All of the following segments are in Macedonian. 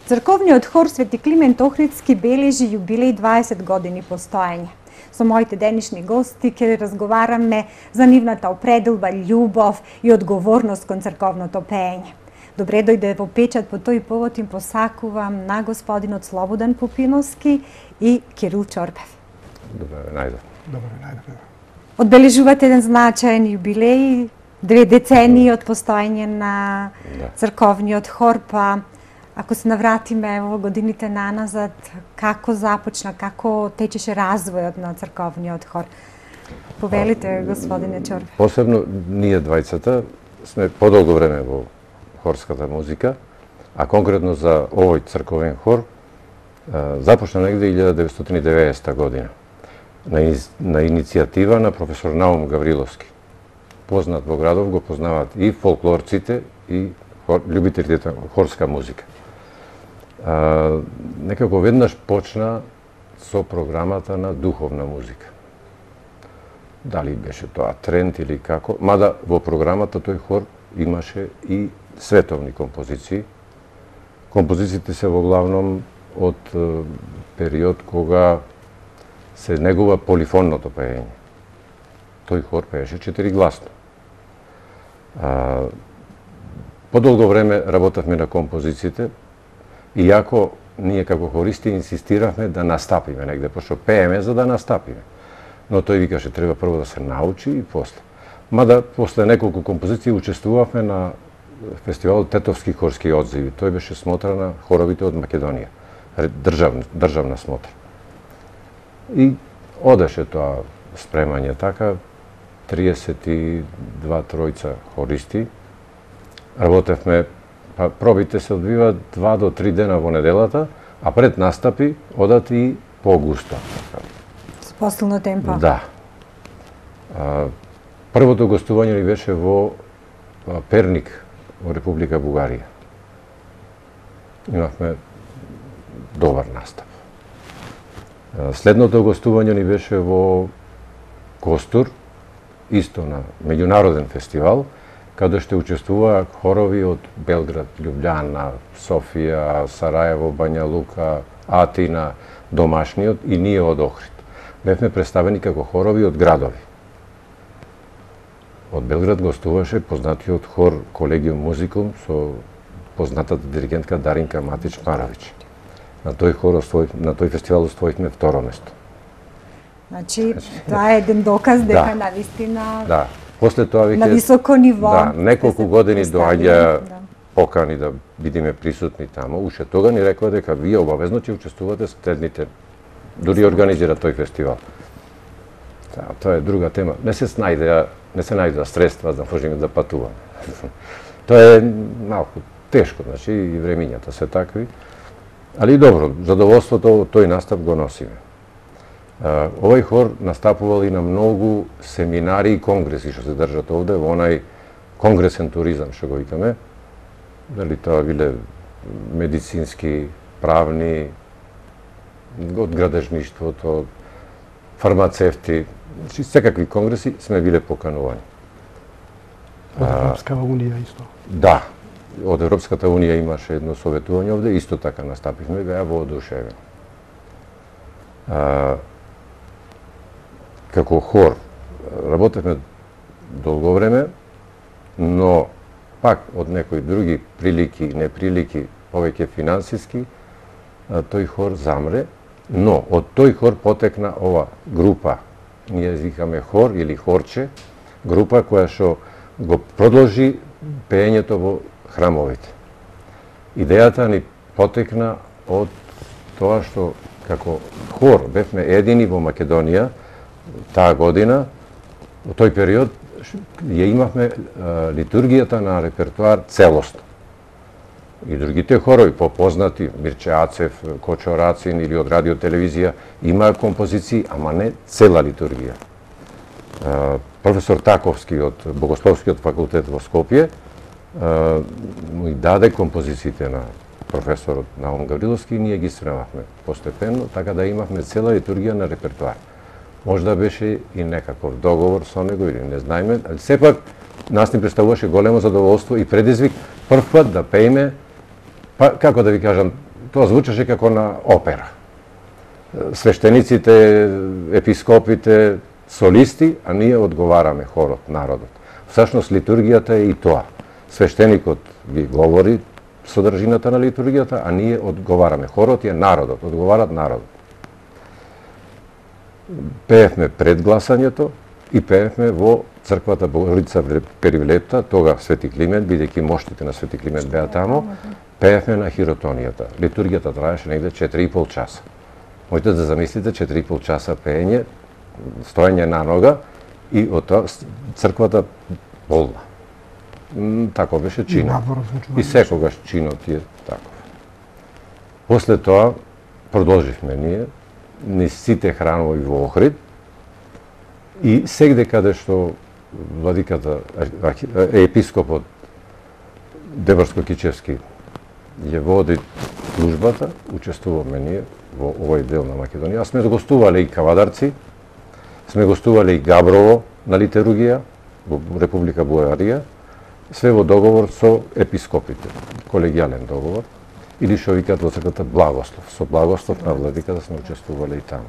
Црковниот хор Свети Климент Охридски бележи јубилеј 20 години постоење. Со моите денешни гости ќе разговараме за нивната определба, љубов и одговорност кон црковното пеење. Добре дојде во Печат, по тој повод им посакувам на господинот Слободан Пупиновски и Кирил Чорбев. Добре ве најдов. Добре ве најдов. Одбележувате еден значаен јубилеј, 2 децении од постоење на црковниот хор, па ако се навратиме во годините наназад, како започна, како течеше развојот на црковниот хор? Повелите, господине Чорбев. Посебно ние двајцата сме подолго време во хорската музика, а конкретно за овој црковен хор започна негде 1990 година на иницијатива на професор Наум Гавриловски. Познат во градов, го познаваат и фолклорците и љубителите на хорска музика. Некако веднаш почна со програмата на духовна музика. Дали беше тоа тренд или како, мада во програмата тој хор имаше и световни композиции. Композициите се во главном од период кога се негува полифонното пеење. Тој хор пееше 4-гласно. Подолго време работевме на композициите, иако ние како хористи инсистиравме да настапиме негде, пошто пееме за да настапиме. Но тој викаше треба прво да се научи и после. Мада после неколку композиции учествувавме на фестивалот Тетовски хорски одзиви. Тој беше смотра на хоровите од Македонија. Државна смотра. И одеше тоа спремање така, 32 хористи. Работевме, па пробите се одвиваат 2 до 3 дена во неделата, а пред настапи одат и по-густо. С посилно темпо. Да. Првото гостување ни беше во Перник, во Република Бугарија. Имавме добар настап. Следното гостување ни беше во Костур, исто на меѓународен фестивал, каде што учествуваа хорови од Белград, Љубљана, Софија, Сараево, Бања Лука, Атина, домашниот и ние од Охрид. Бевме представени како хорови од градови. Од Белград гостуваше познатиот хор Колегиум Музикум со познатата диригентка Даринка Матич Маравич. На тој хор, на тој фестивал оствоивме второ место. Значи, тоа е еден доказ дека навистина после тоа на високо ниво. Да, неколку години доаѓа покани да бидеме присутни таму. Уште тога ни рекоа дека вие обавезно ќе учествувате следните, дури организира тој фестивал. Тоа е друга тема. Не се најдеа средства да можеме да патуваме. Тоа е малку тешко, значи и времињата се такви. Али добро, задоволството тој настап го носиме. Овој хор настапувал и на многу семинари и конгреси што се држат овде, во онај конгресен туризам, што го викаме. Дали тоа биле медицински, правни, од градежништвото, фармацевти, значи секакви конгреси сме биле поканувани. Од Европска унија исто. Да, од Европската унија имаше едно советување овде, исто така настапивме, беа воодушевени. Како хор работевме долго време, но пак од некои други прилики и неприлики, повеќе финансиски, тој хор замре, но од тој хор потекна ова група, ние викаме хор или хорче, група која што го продолжи пеењето во храмовите. Идејата ни потекна од тоа што како хор бевме едини во Македонија таа година, во тој период ја имавме литургијата на репертуар целосно. И другите хорови, попознати, Мирче Ацев, Кочо Рацин или од радио телевизија, имаа композиции, ама не цела литургија. Професор Таковски од Богословскиот факултет во Скопје му даде композициите на професорот Наум Гавриловски и ние ги сремавме постепенно, така да имавме цела литургија на репертуар. Можда беше и некаков договор со него или не знаеме, али сепак нас ни представуваше големо задоволство и предизвик прв пат да пееме, па како да ви кажам, тоа звучеше како на опера. Свештениците, епископите, солисти, а ние одговараме, хорот, народот. Всушност литургијата е и тоа. Свештеникот ги говори содржината на литургијата, а ние одговараме. Хорот е народот, одговарат народот. Пеевме пред гласањето и пеевме во црквата Богородица Перивлета, тога Свети Климент, бидејќи моштите на Свети Климент беа тамо, пеевме на хиротонијата. Литургијата траеше негде 4,5 часа. Можете да замислите 4,5 часа пеење, стоење на нога и од тоа црквата полна. Тако беше чинот. И секогаш чинот е таков. После тоа продолживме ние низ сите храмови во Охрид и сегде каде што владиката, епископот Деборско-Кичевски ја води службата, учествуваме ние во овој дел на Македонија. Сме гостувале и Кавадарци, сме гостувале и Габрово на литургија во Република Бугарија, све во договор со епископите, колегијален договор, или што викаат во црквата благослов. Со благослов на владиката сме учествувале и таму.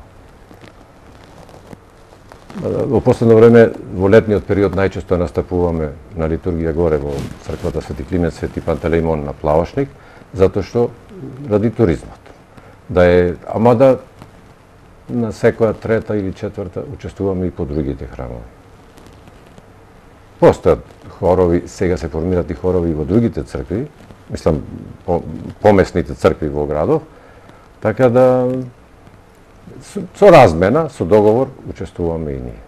Во последно време, во летниот период, најчесто настапуваме на литургија горе во црквата Свети Климент, Свети Пантелеимон на Плавошник, затоа што ради туризмот. Ама да на секоја трета или четврта учествуваме и по другите храмови. Постојат хорови, сега се формират и хорови во другите цркви, мислам, помесните цркви во градов, така да со размена, со договор, учествуваме и ние.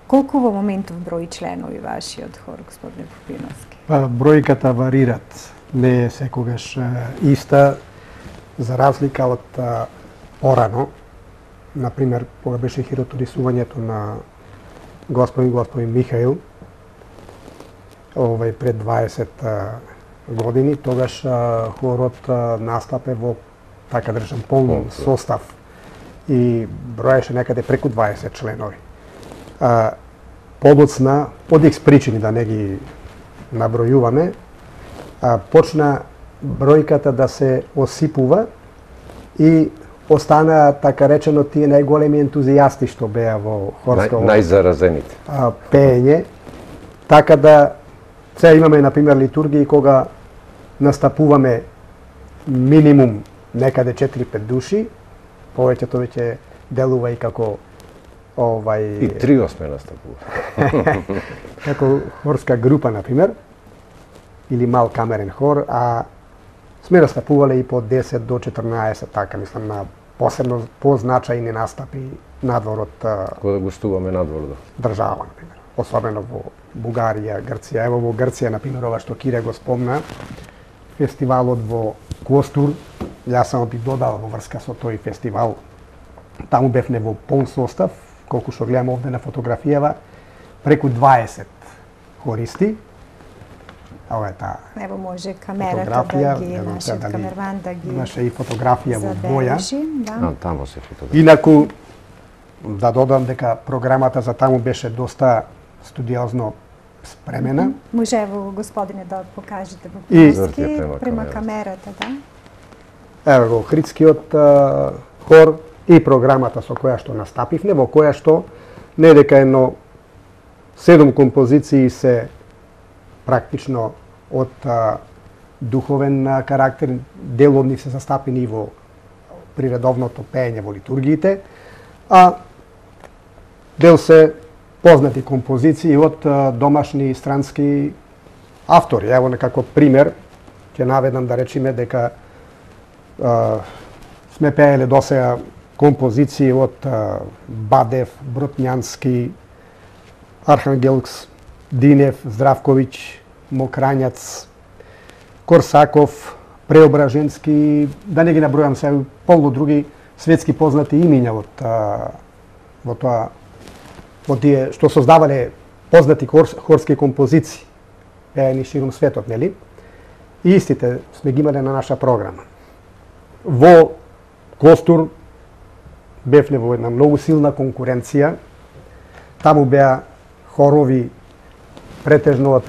Колку во моментов брои членови вашиот хор, господине Попиновски? Бројката варират, не е секогаш иста, за разлика од порано. Например, кога беше хироторисувањето на господин Михаил, пред 20 години, тогаш хорот настапе во, така да речем, полн состав и броеше некаде преку 20 членови. Подоцна, од X причини, да не ги набројуваме, почна бројката да се осипува и останаа, така речено, тие најголеми ентузијасти што беа во хорско најзаразените пеење, така да сега имаме, например, литургии кога настапуваме минимум некаде 4-5 души, повеќето веќе делува и како И трио сме настапували. Како хорска група, например, или мал камерен хор, а сме настапувале и по 10 до 14, така, мислам, на посебно позначајни настапи надвор од кога гостуваме надвор држава, например. Особено во Бугарија, Грција. Ево во Грција, например, ова што Кире го спомна, фестивалот во Костур, јас само би додал во врска со тој фестивал. Таму бевме во полн состав, колку што гледам овде на фотографијава, преку 20 хористи. Ова е таа. Ево може камерата да ги, нашиот камерман да ги имаше и фотографија во боја. Да. Таму се фотографија. Инаку, да додам дека програмата за таму беше доста студиозно спремена. Може ево, господине, да покажете во Попиновски према камерата, да? Ево го Охридскиот хор и програмата со која што настапивме, во која што не дека едно 7 композиции се практично од духовен карактер, дел од нив се застапени во приредовното пеење во литургиите, а дел се познати композиции од домашни и странски автори. Ево некако пример, ќе наведам да речеме дека сме пееле досега композиции од Бадев, Бротњански, Архангелс, Динев, Здравковиќ, Мокрањац, Корсаков, Преображенски, да не ги набројам се, полно други светски познати имиња во тоа, во тие што создавале познати хорски композиции, пеени ширум светот, нели? И истите сме ги имале на наша програма. Во Костур бевме во една многу силна конкуренција. Таму беа хорови претежно од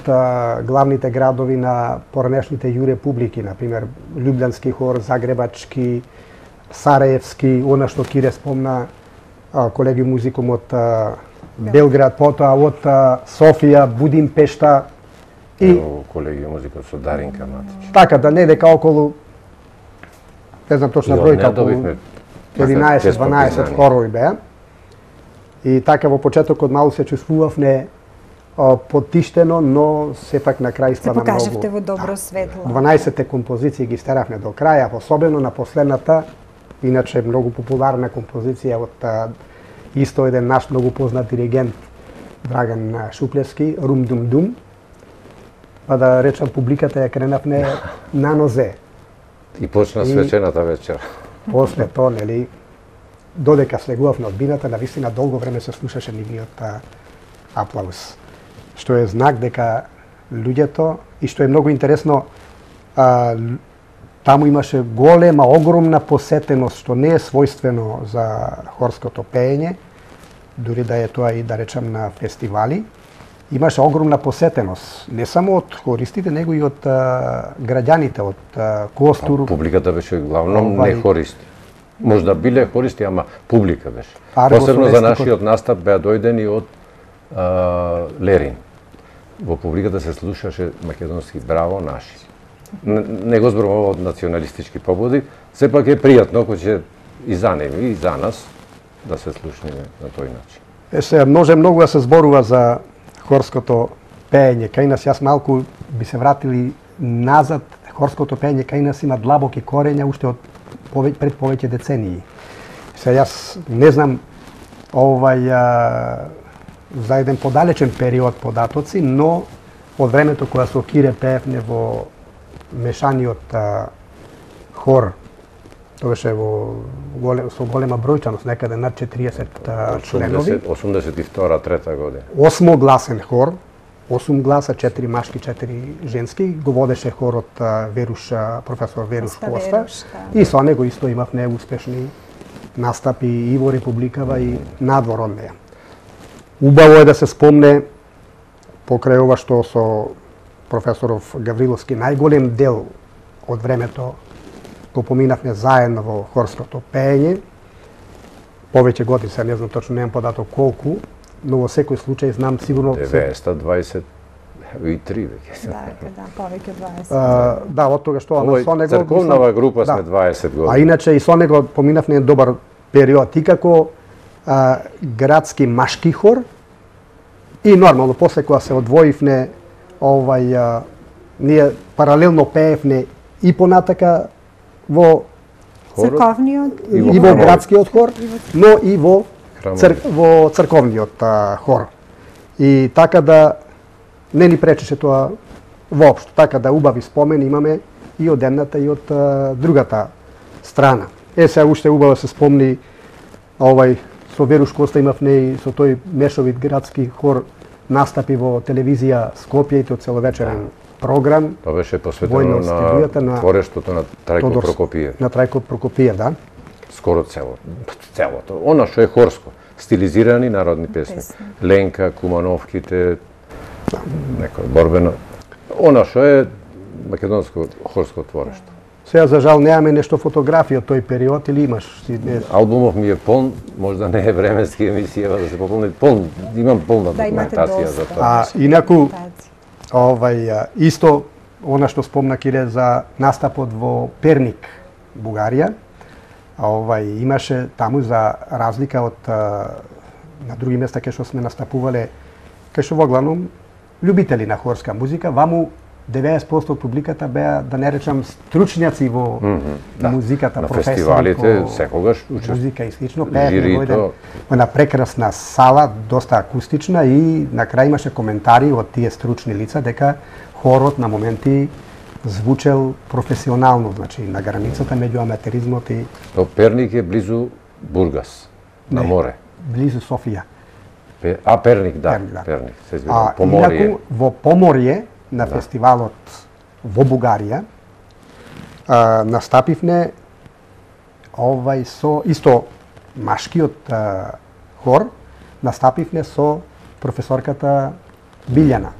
главните градови на поранешните ју републики, например Љубљански хор, Загребачки, Сараевски, она што Кире спомна, колеги музикум од Белград, потоа од Софија, Будимпешта и колеги музика со Даринка Матич. Така да не дека околу, не знам точна бројка, околу 11-12 хорови беа. И така во почетокот малку се чувствувавме потиштено, но сепак на крај ствана многу. Се покажавте во добро светло. 12 композиции ги стеравме до краја, особено на последната, иначе многу популарна композиција од исто еден наш многу познат диригент Драган Шуплевски, Рум Дум Дум. Па да речам публиката ја кренавме на нозе. И почна свечената вечер. После тоа, нели, додека слегувавме од бината, навистина долго време се слушаше нивниот аплауз. Што е знак дека луѓето, и што е многу интересно, таму имаше голема, огромна посетеност, што не е својствено за хорското пеење, дури да е тоа и да речам на фестивали. Имаше огромна посетеност, не само од хористите, него и од граѓаните, од Костур. Публиката беше главном не хористи. Можда биле хористи, ама публика беше. Посебно за нашиот настап беа дојдени од Лерин. Во публиката се слушаше македонски браво наши. Не го зборувам од националистички побуди, сепак е пријатно кој ќе и за нив и за нас да се слушнеме на тој начин. Се може многу да се зборува за хорското пеење. Кај нас јас малку би се вратили назад. Хорското пеење кај нас има длабоки корења уште од пред повеќе децении. Се јас не знам за еден подалечен период податоци, но од времето кога со Кире пеевме во мешаниот хор, тоа беше со голема бројчаност, некаде над 40 членови. 82-3 година. 8-гласен хор, 8 гласа, 4 машки, 4 женски, го водеше хорот професор Веруш Коста. И со него исто имавме успешни настапи и во Републикава и надвор од неја. Убаво е да се спомне покрај ова што со професоров Гавриловски најголем дел од времето го поминавме заедно во хорското пеење. Повеќе години, се не знам точно, немам податок колку, но во секој случај знам сигурно 923 веќе. Да, повеќе 20. Да, од тога што со него црковнава група сме 20 години. А иначе и со него поминавме добар период и како градски машки хор и нормално после кога се одвоивне ние паралелно пеевне и понатака во црковниот и во градскиот хор, но и во црковниот хор. И така да не ни пречеше тоа воопшто, така да убави спомени имаме и од едната и од другата страна. Се уште убаво се спомни со Веруш Коста имавме и со тој мешовит градски хор настапи во телевизија Скопје и тој целовечерен програм. Тоа беше посветено на творештото на Трајко Прокопиев. На Трајко Прокопиев, да. Скоро целото. Она што е хорско, стилизирани народни песни. Ленка, Кумановките, некој борбено. Она што е македонско хорско творешто. Сега за жал немаме нешто фотографија од тој период или имаш? Албумов ми е полн, можда не е временски емисија да се пополни полн, имам полна документација за тоа. Инаку исто она што спомна Кире за настапот во Перник, Бугарија, имаше таму за разлика од на други места кај што сме настапувале, кај што во главном љубители на хорска музика, ваму 90% од публиката беа, да не речам, стручњаци во музиката, на професори фестивалите секогаш музика и слично, пеевме во една прекрасна сала, доста акустична и на крај имаше коментари од тие стручни лица дека хорот на моменти звучел професионално, значи на границата меѓу аматеризмот и Перник е близу Бургас, на море. Близу Софија. Перник, да. Перник, се извинувам, Поморје. Инаку во Поморје на фестивалот во Бугарија настапивне со исто машкиот хор, настапивне со професорката Билјана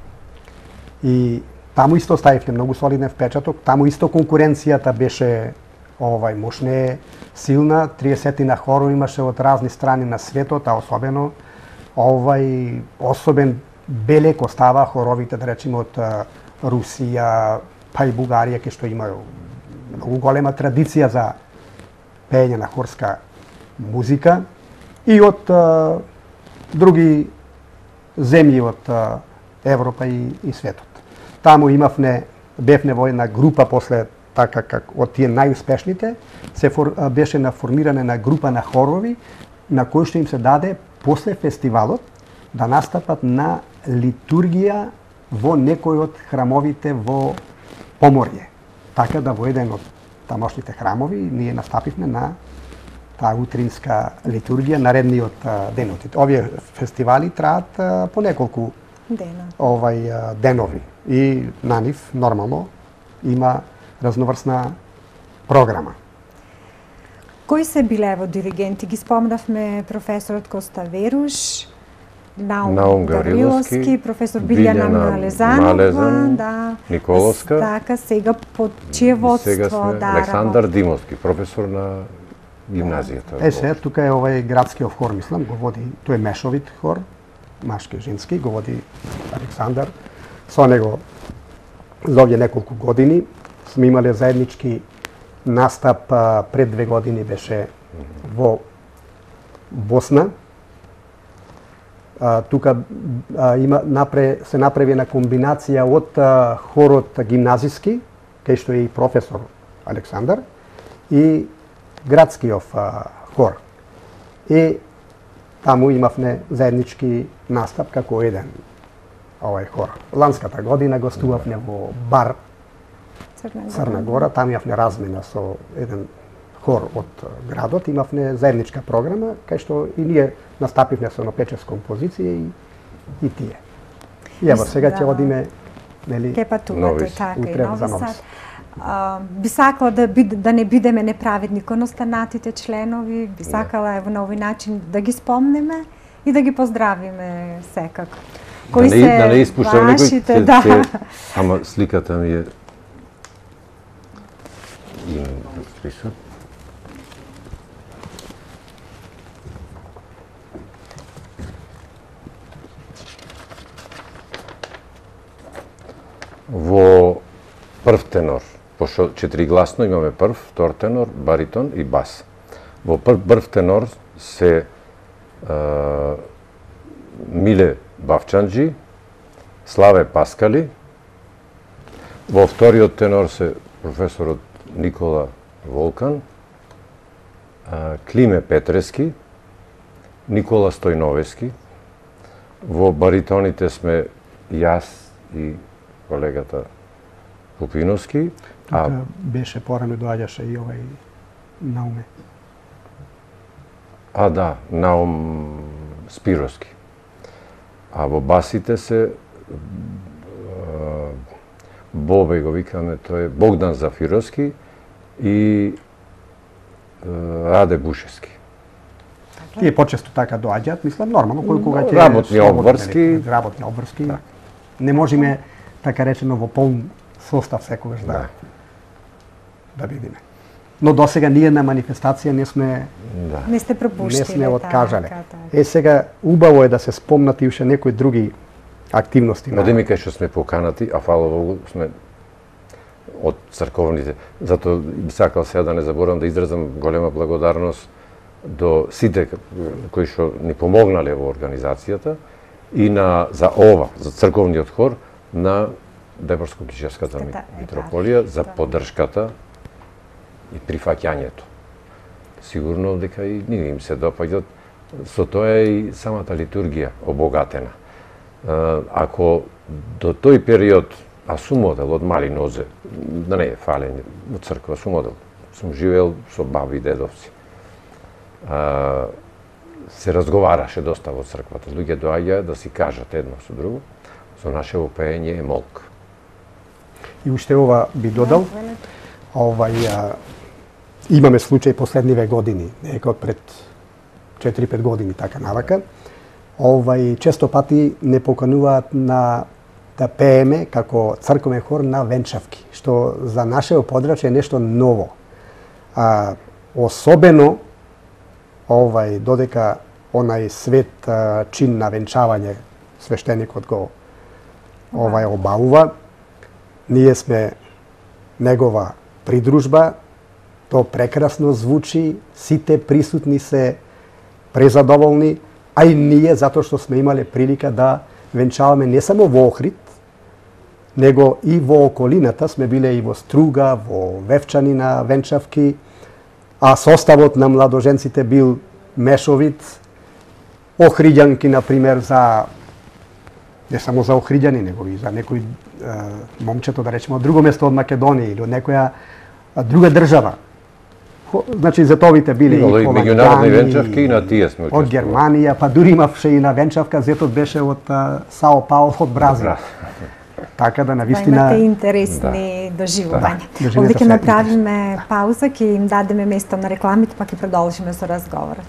И таму исто ставивме многу солиден впечаток, таму исто конкуренцијата беше мощне, силна, 30 хорови имаше од разни страни на светот, а особено особен белек остава хоровите, да речеме, од Русија, па и Бугарија, ке што имају многу голема традиција за пеење на хорска музика, и од други земји од Европа и светот. Таму бевне во една група после така как од тие најуспешните беше на формирање на група на хорови на кои што им се даде после фестивалот да настапат на литургија во некој од храмовите во Поморје. Така да во еден од тамошните храмови ние настапивме на таа утринска литургија наредниот денот. Овие фестивали траат по неколку денови и на нив нормално има разноврсна програма. Кои се биле во диригенти? Ги спомнавме професорот Коста Веруш, Наум Гавриловски, професор Билјана Малезанова, Николовска. Така, сега под чие водство Александар Димовски, професор на гимназијата. Се, тука е овај градскиот хор, мислам, го води, тој е мешовит хор, машки и женски, го води Александар. Со него за овие неколку години сме имале заеднички настап, пред 2 години беше во Босна. Тука се направи една комбинација од хорот гимназиски, кај што е и професор Александар, и градскиот хор. И таму имавме заеднички настап како еден овај хор. Ланската година гостувавме во бар Црна Гора, таму имавме размена со еден хор од градот, имавме заедничка програма, кај што и ние настапивме со 5-6 композиции и тие. И ево сега ќе одиме, нели, ке патувате така и утре за Нови Нови Сад. Би сакала да не бидеме неправедни кон останатите членови, би сакала ево на овој начин да ги спомнеме и да ги поздравиме секако. Кои се вашите, да. Ама сликата ми е список. Во прв тенор, пошто 4-гласно имаме прв, втор тенор, баритон и бас. Во прв тенор се Миле Бавчанджи, Славе Паскали, во вториот тенор се професорот Никола Волкан, Климе Петрески, Никола Стојновески, во баритоните сме јас и колегата Пупиновски. Тука беше порано доаѓаше и овај Науме. Да, Наум Спировски. А во басите се Бобе го викаме, тој е Богдан Зафировски и Раде Бушевски. Тие почесто така доаѓаат, мислам нормално, кога ќе работни обврски. Не можеме така речено во полн состав секогаш да видиме. Но досега ние на манифестација не сме не сте пропуштиле, не сме откажале. Сега убаво е да се спомнат и уште некои други активности. Одеме кај што сме поканати, а фала Богу сме од црковните. Затоа би сакал сега да не заборавам да изразам голема благодарност до сите кои што ни помогнале во организацијата и за црковниот хор на Деборско-Кишевската митрополија за поддршката и прифаќањето. Сигурно дека и ние им се допаѓат, со тоа и самата литургија обогатена. Ако до тој период, а сум модел од мали нозе, да не е фалење од црква, сум модел, сум живеел со баби и дедовци. Се разговараше доста во црквата, луѓе доаѓаа да си кажат едно со друго, со нашево пеење е молк. И уште ова би додал, имаме случај последниве години, нека од пред 4-5 години така навака, често пати не покануваат на да пееме како црковен хор на венчавки, што за нашето подрачје е нешто ново. Особено додека онај свет чин на венчавање свештеникот го обавува, ние сме негова придружба, то прекрасно звучи, сите присутни се презадоволни, а и ние затоа што сме имале прилика да венчаваме не само во Охрид, него и во околината, сме биле и во Струга, во Вевчани на венчавки, а составот на младоженците бил мешовит, охриѓанки, например, не само за охриѓани, него и за некој момчето, да речеме, од друго место од Македонија или од некоја друга држава. Значи, зетовите биле и меѓународни венчавки и на тие сме учествували. Од Германија, па дури имавше и на венчавка, зетот беше од Сао Пауло, од Бразил. Така да, навистина... Имате интересни доживувања. Овде ќе направиме пауза, ќе им дадеме место на рекламите, па ќе продолжиме со разговорот.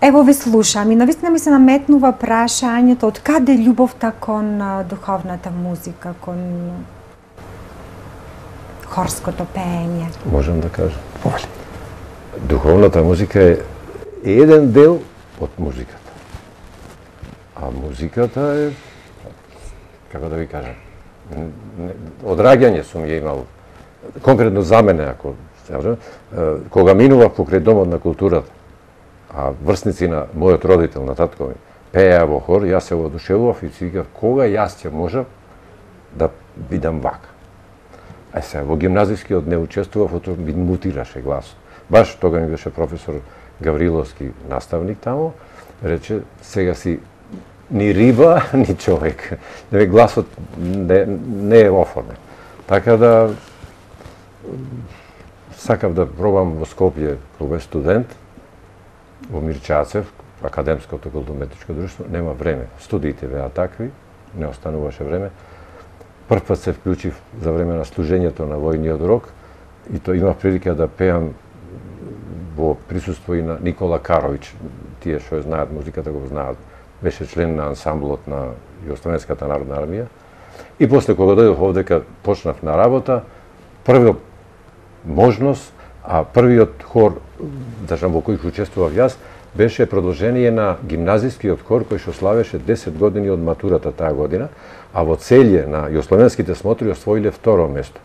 Ево ве слушам и навистина ми се наметнува прашањето од каде љубовта кон духовната музика, кон хорското пеење? Можам да кажам. Духовната музика е еден дел од музиката. А музиката е, како да ви кажам, одраѓање сум ја имал. Конкретно за мене, ако кога минував покрај Домот на културата, а врсници на мојот родител, на татко ми, пееа во хор, јас се воодушевував и си викав кога јас ќе можам да бидам вака. А сега во гимназискиот не учествував, ото ми мутираше гласот. Баш тога ми беше професор Гавриловски наставник тамо, рече сега си ни риба, ни човек. Гласот не е оформен. Така да сакав да пробам во Скопје кога студент, во Мирчацев, Академското културно-уметничко друштво, нема време. Студиите беа такви, не остануваше време. Прв пат се вклучив за време на служењето на војниот рок и то имав прилика да пеам во присуство и на Никола Карович. Тие што знаат музиката го знаат. Беше член на ансамблот на Југословенската народна армија. И после кога дојдов овдека, почнав на работа, првиот можност, а првиот хор, во кој учествував јас, беше продолжение на гимназискиот хор кој што славеше 10 години од матурата таа година, а во целје на југословенските смотри освоиле второ место.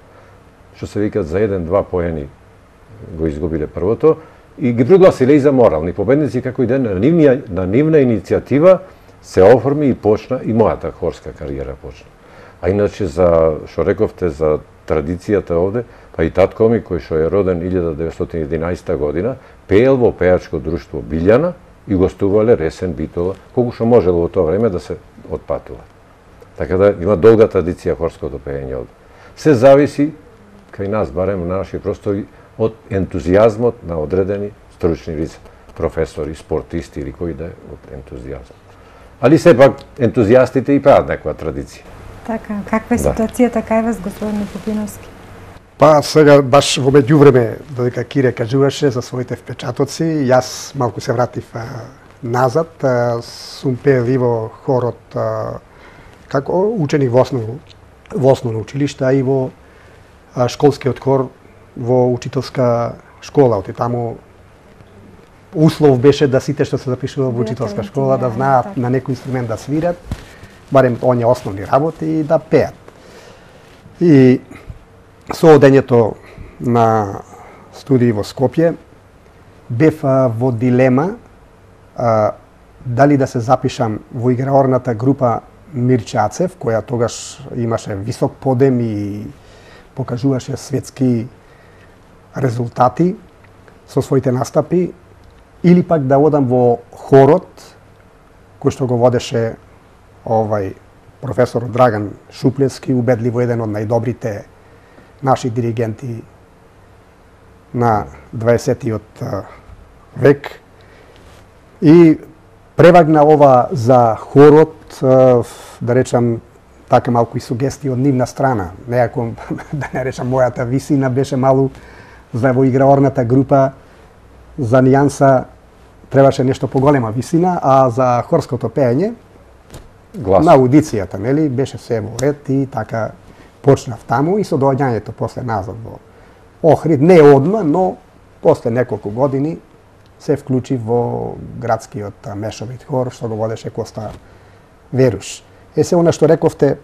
Што се викат за 1-2 поени го изгубиле првото и ги пригласиле и за морални победници како и ден на нивна иницијатива се оформи и почна и мојата хорска кариера почна. А иначе за што рековте за традицијата овде, па и татко ми кој што е роден 1911 година, пеел во пејачко друштво Билјана и гостувале Ресен, Битола, колку што можело во тоа време да се отпатува. Така да има долга традиција хорското пеење овде. Се зависи, кај нас, барем на наши простори, од ентузијазмот на одредени стручни лица, професори, спортисти или кој да е од ентузијазм. Али сепак ентузијастите и прават некоја традиција. Така, каква е ситуацијата кај вас, господин Попиновски? Па сега баш во меѓувреме, додека Кире кажуваше за своите впечатоци, јас малку се вратив назад, сум пеел и во хорот како ученик во основно училиште, а и во школскиот хор во учителска школа. Оти таму услов беше да сите што се запишува во учителска школа да знаат на некој инструмент да свират, барем оние основни работи и да пеат. И со одењето на студии во Скопје бев во дилема дали да се запишам во играорната група Мирчацев, која тогаш имаше висок подем и покажуваше светски резултати со своите настапи, или пак да одам во хорот, кој што го водеше професор Драган Шуплевски, убедливо еден од најдобрите наши диригенти на 20-тиот век. И превагна ова за хорот, да речам, така малку и сугестии од нивна страна. Неако, да не речам, мојата висина беше малку за во играорната група, за нијанса требаше нешто поголема висина, а за хорското пеење, на аудицијата, нели, беше се во ред и така почнав таму и со доаѓањето после назад во Охрид, не одма, но после неколку години се вклучи во градскиот мешовит хор, што го водеше Коста Веруш. Се она што рековте,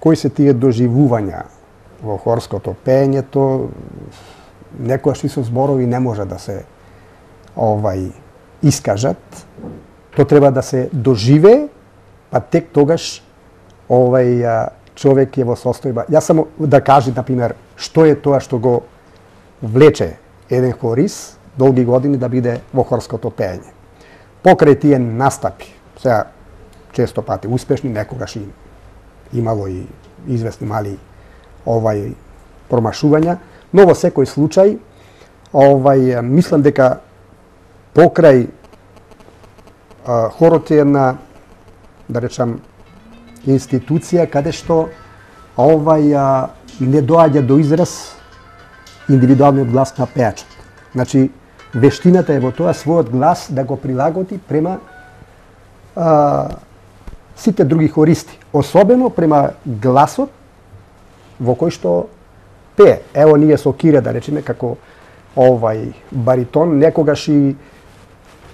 кои се тие доживувања во хорското пеењето, некојаш и со зборови не може да се искажат. То треба да се доживее, па тек тогаш човек е во состојба. Јас само да кажи, например, што е тоа што го влече еден хорист долги години да биде во хорското пеење. Покрај тие настапи, сега често пати успешни, некогаш и имало и известни мали промашувања, но во секој случај мислам дека покрај хорот е една, да речам, институција каде што не доаѓа до израз индивидуалниот глас на пеачот. Значи, вештината е во тоа својот глас да го прилагоди према сите други хористи, особено према гласот во кој што пее. Ево ние со Кире, да речеме, како баритон, некогаш и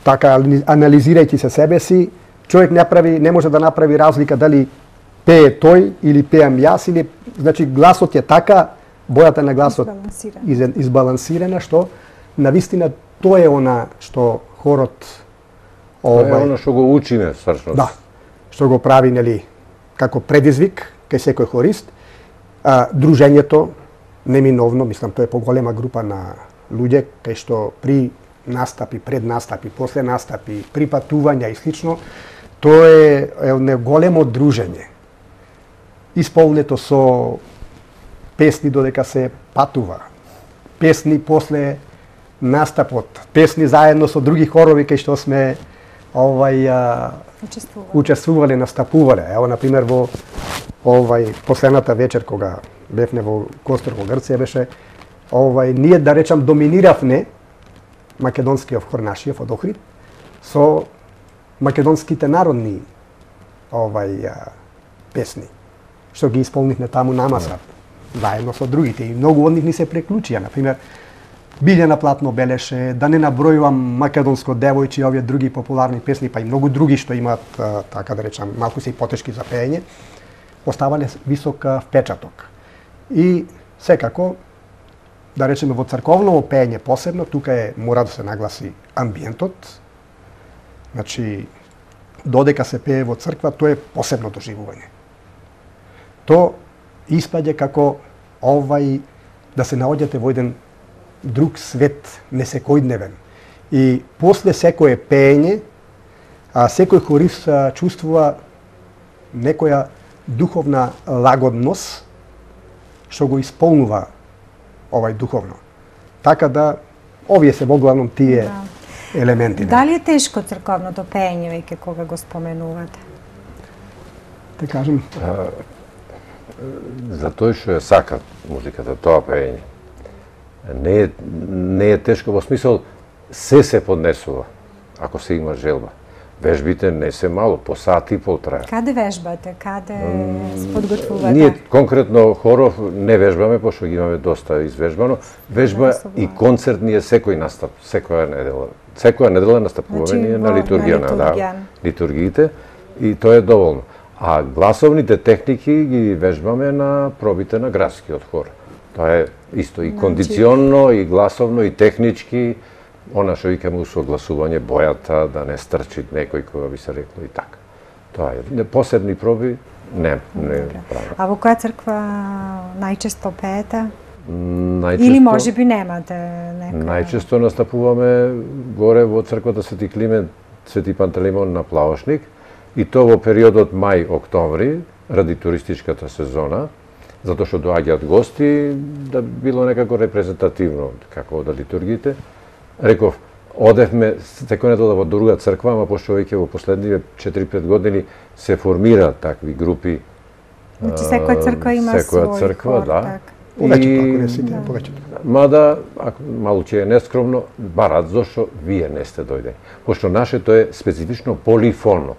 така анализирајќи се себе си, човек не може да направи разлика дали пее тој или пеам јас, или значи гласот е така, бојата на гласот избалансирана, што навистина тоа е она што хорот тоа е она што го учиме всушност. Да. Што го прави, нели, како предизвик кај секој хорист. Дружењето неминовно, мислам, тоа е поголема група на луѓе кај што при настапи, пред настапи, после настапи, при патувања и слично, тоа е едно големо дружење. Исполнето со песни додека се патува, песни после настапот, песни заедно со други хорови кај што сме учествувале, настапувале. Ево, например, во последната вечер кога бевме во Костор во Грција беше ние, да речам, доминиравме македонскиот хор нашиот од Охрид со македонските народни песни, што ги исполнивме таму намаза, заедно со другите. И многу од нив ни се преклучија. Например, Билјана Платно белеше, да не набројувам Македонско девојче и овие други популарни песни, па и многу други што имаат, така да речам, малку се и потешки за пеење, оставале висок впечаток. И секако, да речеме, во црковно пеење посебно, тука мора да се нагласи амбиентот. Значи, додека се пее во црква, тоа е посебно доживување. То испаѓа како да се наоѓате во еден друг свет, несекојдневен. И после секое пеење, секој хорист чувствува некоја духовна лагодност, што го исполнува духовно. Така да, овие се во главном тие елементи. Дали е тешко црковното пеење, веќе кога го споменувате? Те кажем. За тој што ја сака музиката, тоа пеење. Не е тешко во смисол се поднесува, ако се има желба. Вежбите не се мало, по сат и пол трае. Каде вежбате? Каде се подготвувате? Ние конкретно хоров не вежбаме, пошто ги имаме доста извежбано. Вежба и концерт ние секој настап, секоја недела. Секоја недела настапуваме ние на литургија, литургиите, и тоа е доволно. А гласовните техники ги вежбаме на пробите на градскиот хор. Тоа е исто и кондиционно, и гласовно, и технички, она што викаме усогласување, бојата, да не стрчи некој кога би се рекло и така. Тоа е. Посебни проби не правим. А во која црква најчесто пеете? Или може би немате некоја? Најчесто настапуваме горе во црквата Свети Климент, Свети Пантелеймон на Плавошник, и то во периодот мај-октомври, ради туристичката сезона, затоа што доаѓаат гости, да било некако репрезентативно како да литургите. Реков, одевме секој недела во друга црква, ама пошто веќе во последниве 4-5 години се формираат такви групи Значи секоја црква има секоја свој црква, хор, да. така. Повеќето, ако не сите, повеќето. Мада, малку ќе е нескромно, барат зашто вие не сте дојдени. Пошто нашето е специфично полифонно.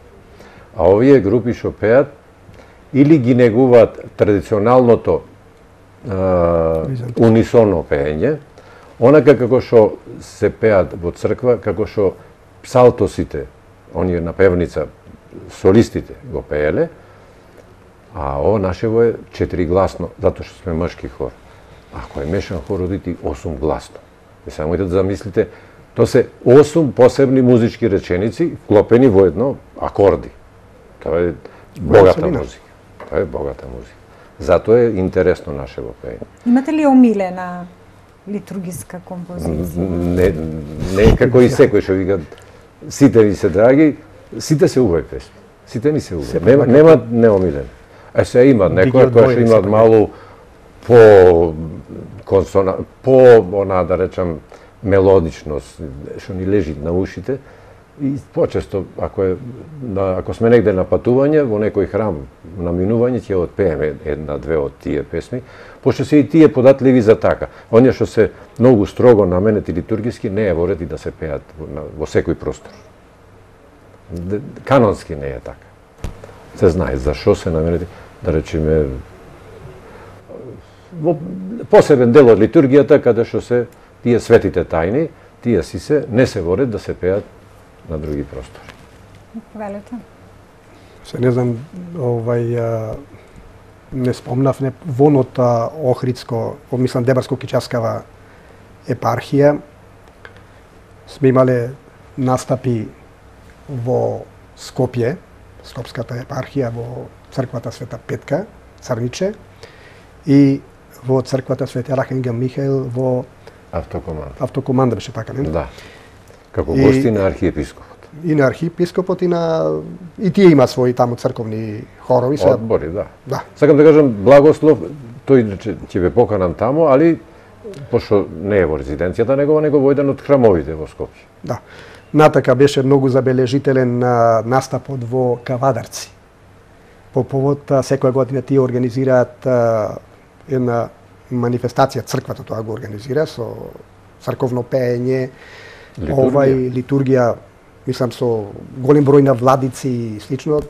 А овие групи што пеат, или ги негуваат традиционалното унисонно пеење, онака како што се пеат во црква, како што псалтосите, оние на певница, солистите го пееле, а ово нашево е 4-гласно, затоа што сме мъжки хор. Ако е мешан хор, одите 8-гласно. И само да замислите, то се 8 посебни музички реченици, вклопени во едно акорди. Тоа е богата музика. Тоа е богата музика. Затоа е интересно нашево пеење. Имате ли омилена литургиска композиција? Не како и секој што вика, сите ми се драги, сите се убави песни. Сите ми се убави. Нема неомилен. Се има некоја која што имаат малу она да речам мелодичност, што ни лежи на ушите. И почесто, ако сме негде на патување, во некој храм на минување, ќе отпееме една-две од тие песни, пошто се и тие податливи за така. Оние што се многу строго наменети литургиски, не е во ред и да се пеат во секој простор. Канонски не е така. Се знае зашо се наменети, да речеме, во посебен дел од литургијата, каде што се тие светите тајни, тие си се, не се во ред да се пеат на други простори. Велете. Се не знам, не спомнав, вонот Охридско, мислам Дебарско-Кичаскава епархија, сме имале настапи во Скопје, Скопската епархија, во црквата Света Петка, Црниче, и во црквата Свети Архангел Михаил во Автокоманда беше така, не? Да. Како гости на архиепископот. И на архиепископот и тие има своји таму црковни хорови. Одбори, да. Да. Сакам да кажам, Благослов, тој ќе ве поканам таму, али пошто не е во резиденцијата негова, него во еден од храмовите во Скопје. Да. Натака беше многу забележителен настапот во Кавадарци. По повод секоја година тие организираат една манифестација, црквата тоа го организира со црковно пеење, литургија, мислам со голем број на владици и слично,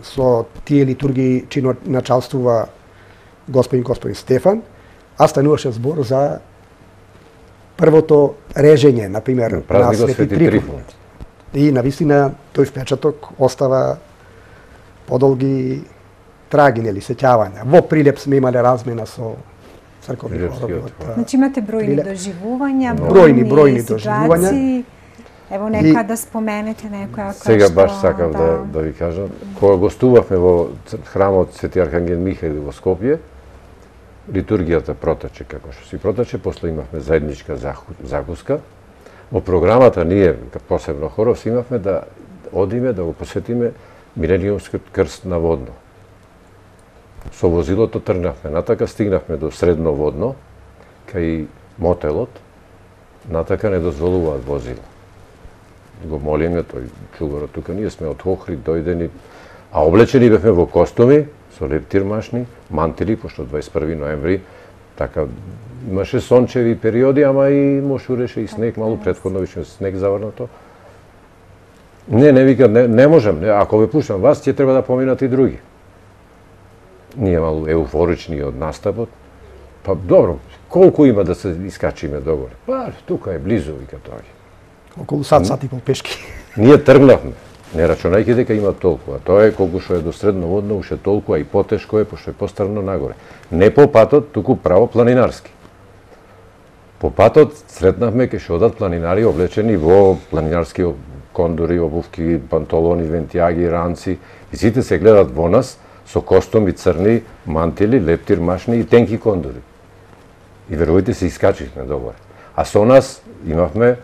со тие литургии чино началствува господин Стефан, а стануваше збор за првото режење, например, на Свети Трифун. И навистина тој впечаток остава подолги траги, нели, сеќавања. Во Прилеп сме имале размена со црковни хорови. Значи имате бројни доживувања, бројни доживувања. Ево нека да споменете некоја која што... Сега баш сакав да ви кажам, кога гостувавме во храмот Свети Архангел Михаил во Скопје, литургијата протече како што си протече, после имавме заедничка закуска. Во програмата ние, посебно хоров, имавме да одиме, да го посетиме Милениумскиот крст на Водно. Со возилото тргнавме натака, стигнавме до Средно Водно, кај мотелот, натака не дозволуваат возила. Го молиме, тој чугарот тука, ние сме од Охрид дојдени, а облечени бевме во костуми, со лептирмашни, мантили, пошто 21 ноември, така, имаше сончеви периоди, ама и мошуреше и снег, малу претходно више снег заврнато. Не вика, не можам, ако ве пуштам вас, ќе треба да поминат и други. Ние малу еуфорични од настапот, па добро, колку има да се искачиме догоре? Па, тука е близу, вика тоа. Околу сат и пол пешки. Ние тргнавме, не рачунајќи дека има толку, а тоа е колку што е до Средно Водно, уште толку, а и потешко е, пошто е пострано нагоре. Не по патот, туку право планинарски. По патот сретнавме кај што одат планинари облечени во планинарски кондури, обувки, панталони, вентијаги, ранци, и сите се гледат во нас со костуми црни, мантили, лептир, машни и тенки кондури. И верувајте се искачихме догоре. А со нас имавме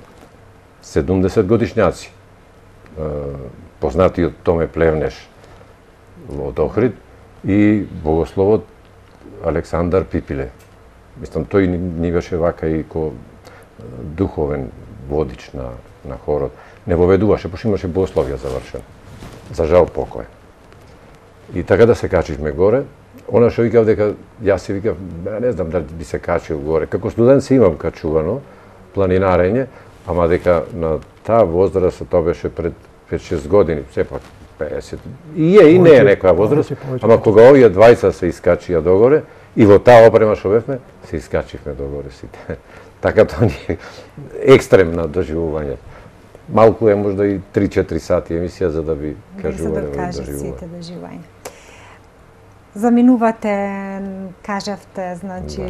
70 годишњаци. Познатиот Томе Плевнеш од Охрид и богословот Александар Пипиле. Мислам, тој ни беше вака и ко духовен водич на хорот. Не воведуваше, пошто имаше богословија завршено. За жал покој. И така да се качивме горе, Она што викав дека јас си викав, не знам дали би се качил горе. Како студент се имам качувано, планинарење, ама дека на таа возраст, тоа беше пред 5-6 години, сепак 50. И не е некоја возраст, ама кога овие двајца се искачија догоре, и во таа опрема што бевме, се искачивме догоре сите. Така тоа ни е екстремно доживување. Малку е можда и 3-4 сати емисија за да би кажувале овие доживувања. Заминувате, кажавте, значи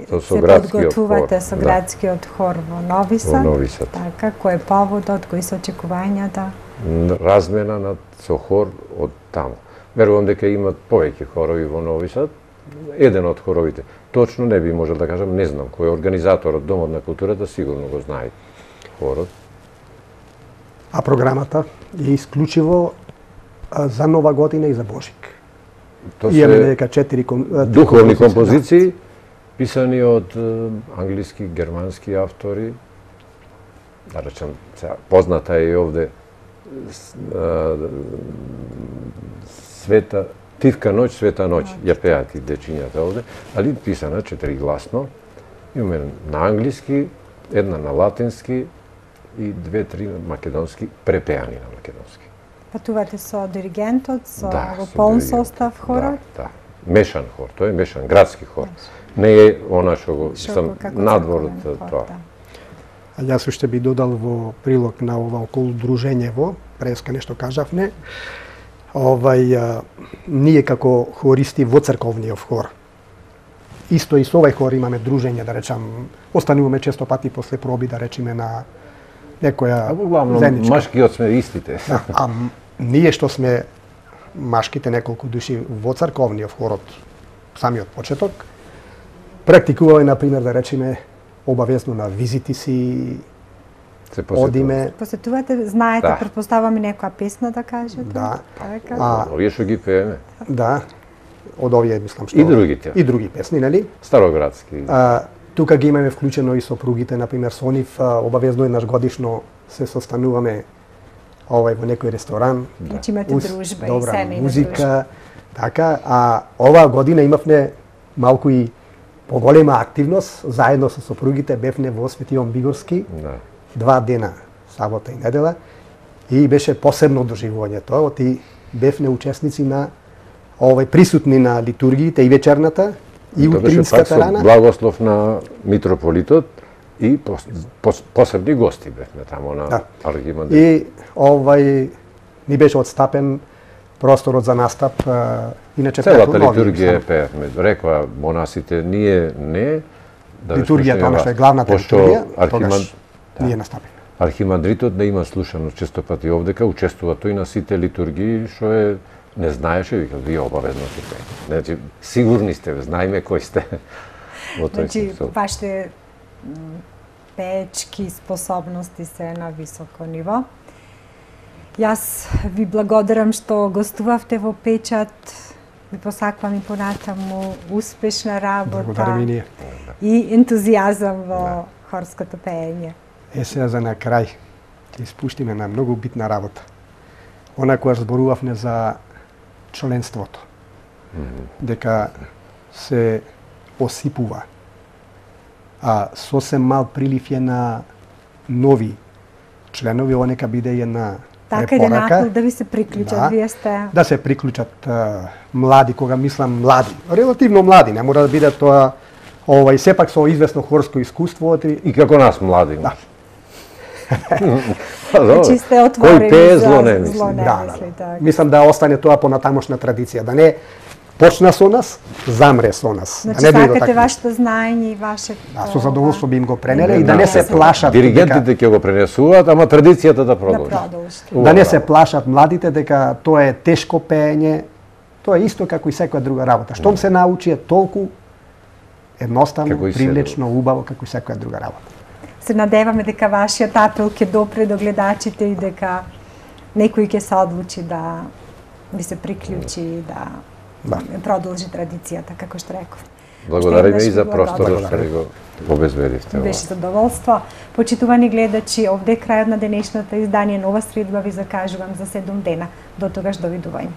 се подготвувате со градскиот хор во Нови Сад. Во Нови Сад. Така, кој е поводот, кои се очекувањата? Размена со хор од таму. Верувам дека имат повеќе хорови во Нови Сад. Еден од хоровите. Точно не би можел да кажам, не знам кој е организаторот, Домот на културата, сигурно го знае хорот. А програмата е исклучиво за Нова година и за Божик. Имаме дека 4 духовни композиции, писани од англиски, германски автори. Да речем, позната е и овде Света Тивка ноќ, света ноќ, ја пеат и дечињата овде, али писана 4-гласно. Имаме на англиски, една на латински и 2-3 македонски, препеани на македонски. Патувате со диригентот, со полн состав хорот? Да. Мешан хор, тоа е мешан, градски хор. Не е она што го сам надвор тоа. А јас уште би додал во прилог на ова околу дружењево, преска нешто кажавме, ние како хористи во црковниот хор, исто и со овај хор имаме дружење, да речам, остануваме често пати после проби, да речеме, на некоја заедничка. Машкиот сме истите. А ние што сме машките неколку души во црковниот хор од самиот почеток, практикуваме, например, да речеме, обавезно на визити си, одиме. Посетувате, знаете, претпоставаме некоја песна да кажете? Да. Овие што ги пееме. Да. Од овие, мислам, што... И другите. И други песни, нели? Староградски. Тука ги имаме вклучено и сопругите, например, со нив обавезно еднаш годишно се состануваме во некој ресторан. Значи имате дружба и семејна музика, така, а оваа година имавме малку и поголема активност, заедно со сопругите бевме во Свети Јован Бигорски, 2 дена, сабота и недела, и беше посебно доживување тоа, оти бевме учесници на присутни на литургиите и вечерната, и утринската рана. Благослов на митрополитот и посебни гости бевме таму на архимандрит. И ни беше отстапен просторот за настап, иначе целата литургија пеевме. Рекоа монасите, ние не да литургијата, она што е главната литургија, тогаш ние настапиме. Архимандритот не има слушано често пати овдека, учествува тој на сите литургии, што е не знаеше, вика, вие обавезно ќе пеете. Значи, сигурни сте, знаеме кој сте. Значи, вашите пеечки способности се на високо ниво. Јас ви благодарам што гостувавте во Печат. Ви посакувам и понатаму успешна работа и ентузијазам во хорското пеење. Сега за на крај ќе испуштиме на многу битна работа. Она која зборувавме за членството, дека се осипува, а сосем мал прилив е на нови членови, ова нека биде една препорака. Така, да ви се приклучат, вие сте... Да се приклучат млади, кога мислам млади, релативно млади, не мора да биде тоа, и сепак со известно хорско искуство. И како нас млади. Да. Значи сте отворени за зло немисли. Мислам да остане тоа понатамошна традиција, да не почна со нас, замре со нас. Значи сакате вашето знаење и вашето... Да, со задоволство би им го пренеле и да не се плашат. Диригентите ќе го пренесуваат, ама традицијата да продолжи. Да не се плашат младите дека тоа е тешко пеење, тоа е исто како и секоја друга работа. Штом се научи е толку едноставно, привлечно, убаво како и секоја друга работа. Се надеваме дека вашиот апел ќе допре до гледачите и дека некој ќе се одлучи да ви се приклучи и да продолжи традицијата, како што реков. Благодариме и за просторот што го обезбедивте. Беше задоволство. Почитувани гледачи, овде е крајот на денешното издание Нова средба ви закажувам за 7 дена. До тогаш довидување.